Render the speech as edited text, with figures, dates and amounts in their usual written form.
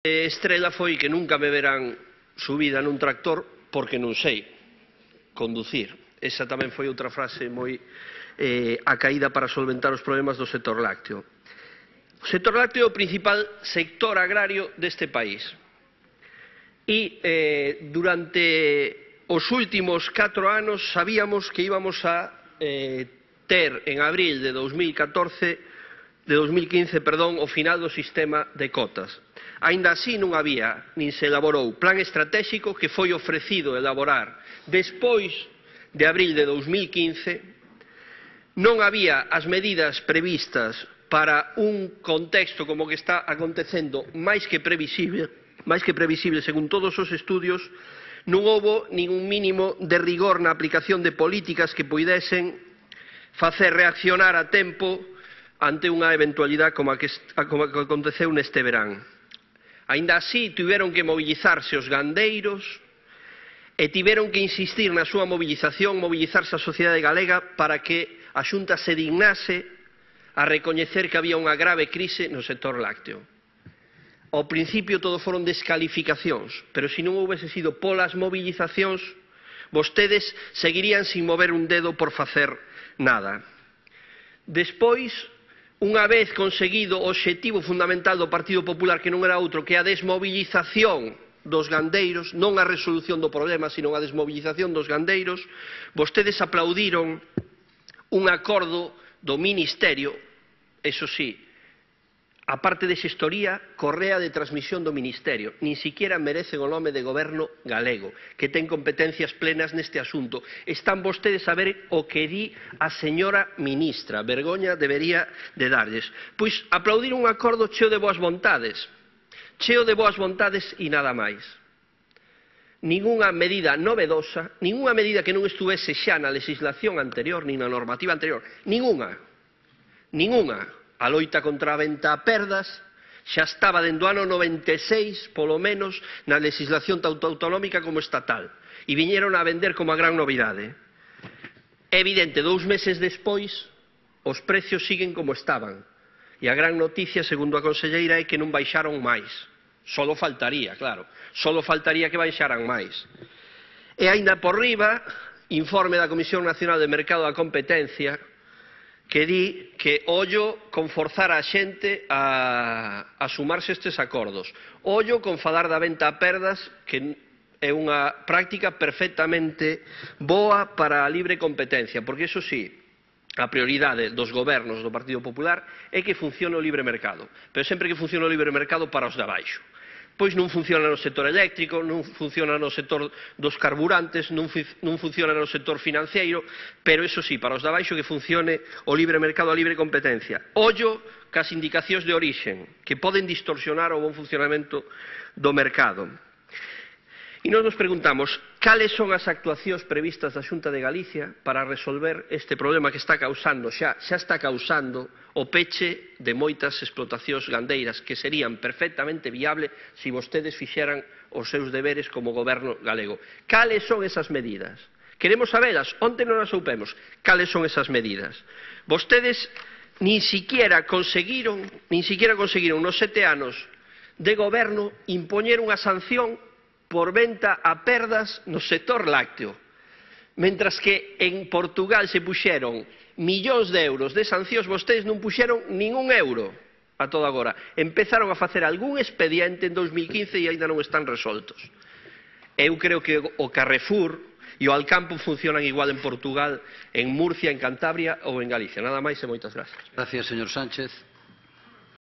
Estrela foi que nunca me verán subida nun tractor porque non sei conducir. Esa tamén foi outra frase moi acaída para solventar os problemas do sector lácteo. O sector lácteo é o principal sector agrario deste país. E durante os últimos 4 anos sabíamos que íbamos a ter en abril de 2015 o final do sistema de cotas. Aínda así non había, nin se elaborou, plan estratégico que foi ofrecido elaborar despois de abril de 2015. Non había as medidas previstas para un contexto como que está acontecendo máis que previsible según todos os estudios. Non houbo ningún mínimo de rigor na aplicación de políticas que puidesen facer reaccionar a tempo ante unha eventualidade como a que aconteceu neste verán. Aínda así, tiveron que mobilizarse os gandeiros e tiveron que insistir na súa mobilizarse a sociedade galega para que a Xunta se dignase a recoñecer que había unha grave crise no sector lácteo. Ao principio todo foron descalificacións, pero se non houbese sido polas mobilizacións, vostedes seguirían sin mover un dedo por facer nada. Despois, unha vez conseguido o obxectivo fundamental do Partido Popular, que non era outro que a desmobilización dos gandeiros, non a resolución do problema, sino a desmobilización dos gandeiros, vostedes aplaudiron un acordo do Ministerio, eso sí, a parte de xestoría, correa de transmisión do Ministerio. Nin siquiera merecen o nome de Goberno galego, que ten competencias plenas neste asunto. Están vostedes a ver o que di a señora ministra. Vergoña debería de darlles. Pois aplaudir un acordo cheo de boas vontades. Cheo de boas vontades e nada máis. Ningunha medida novedosa, ningunha medida que non estuvese xa na legislación anterior, nin na normativa anterior. Ningunha. A loita contra a venta a perdas xa estaba dende o ano 96, polo menos, na legislación tanto autonómica como estatal. E viñeron a vender como a gran novidade. É evidente, 2 meses despois, os precios siguen como estaban. E a gran noticia, segundo a conselleira, é que non baixaron máis. Solo faltaría, claro. Solo faltaría que baixaran máis. E aínda por riba, informe da Comisión Nacional de Mercado da Competencia, que di que ollo con forzar a xente a sumarse a estes acordos. Ollo con falar da venta a perdas, que é unha práctica perfectamente boa para a libre competencia, porque iso sí, a prioridade dos gobernos do Partido Popular é que funcione o libre mercado, pero sempre que funcione o libre mercado para os de abaixo. Pois non funciona no sector eléctrico, non funciona no sector dos carburantes, non funciona no sector financeiro, pero iso sí, para os de abaixo que funcione o libre mercado, a libre competencia. Ollo cas indicacións de orixen, que poden distorsionar o bon funcionamento do mercado. E nós nos preguntamos, cales son as actuacións previstas da Xunta de Galicia para resolver este problema que está causando, xa está causando o peche de moitas explotacións gandeiras que serían perfectamente viable se vostedes fixeran os seus deberes como goberno galego. Cales son esas medidas? Queremos sabelas, onte non as soupemos. Cales son esas medidas? Vostedes nin siquiera conseguiron nos 7 anos de goberno impoñer unha sanción por venta a perdas no sector lácteo. Mentras que en Portugal se puxeron millóns de euros de sancións, vostedes non puxeron ningún euro a todo agora. Empezaron a facer algún expediente en 2015 e ainda non están resoltos. Eu creo que o Carrefour e o Alcampo funcionan igual en Portugal, en Murcia, en Cantabria ou en Galicia. Nada máis e moitas gracias. Gracias, señor Sánchez.